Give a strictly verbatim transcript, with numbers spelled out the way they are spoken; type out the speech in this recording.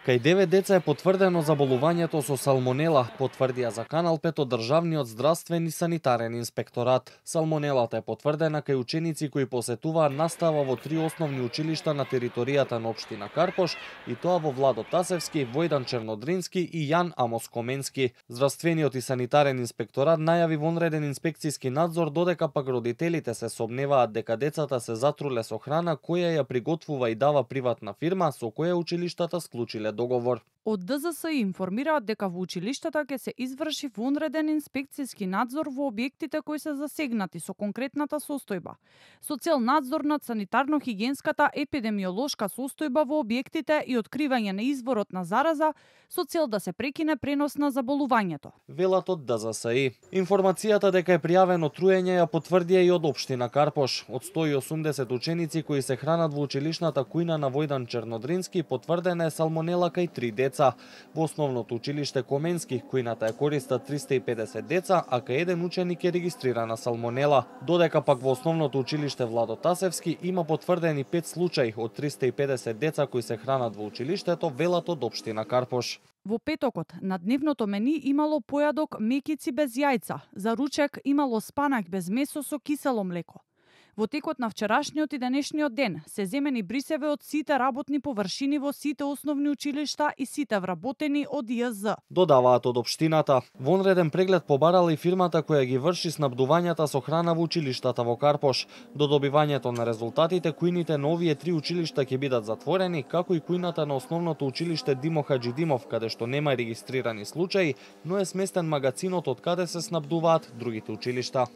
Кај девет деца е потврдено заболувањето со салмонела, потврдија за Канал пет од Државниот здравствен и санитарен инспекторат. Салмонелата е потврдена кај ученици кои посетуваа настава во три основни училишта на територијата на општина Карпош, и тоа во Владо Тасевски, Војдан Чернодрински и Јан Амос Коменски. Здравствениот и санитарен инспекторат најави вонреден инспекцијски надзор, додека пак родителите се сомневаат дека децата се затруле со храна која ја приготвува и дава приватна фирма со која училиштата склучиле договор. Од д з с информираат дека во училиштата ќе се изврши вонреден инспекцијски надзор во објектите кои се засегнати со конкретната состојба, со цел надзор над санитарно-хигиенската епидемиолошка состојба во објектите и откривање на изворот на зараза, со цел да се прекине пренос на заболувањето. Велат од д з с и. Информацијата дека е пријавено труење ја потврдија и од општина Карпош. Од сто и осумдесет ученици кои се хранат во училишната кујна на Војдан Чернодрински, потврдена е салмонела кај три деца. Во основното училиште Коменски кујната е користат триста и педесет деца, а кај еден ученик е регистрирана салмонела. Додека пак во основното училиште Владо Тасевски има потврдени пет случаи од триста и педесет деца кои се хранат во училиштето, велат од општина Карпош. Во петокот на дневното мени имало појадок мекици без јајца, за ручек имало спанак без месо со кисело млеко. Во текот на вчерашниот и денешниот ден се земени брисеве од сите работни површини во сите основни училишта и сите вработени од Ј З. Додаваат од општината. Вонреден преглед побарала и фирмата која ги врши снабдувањата со храна во училиштата во Карпош. До добивањето на резултатите, кујните на овие три училишта ќе бидат затворени, како и кујната на основното училиште Димо Хаџидимов, каде што нема регистрирани случаи, но е сместен магацинот од каде се снабдуваат другите училишта.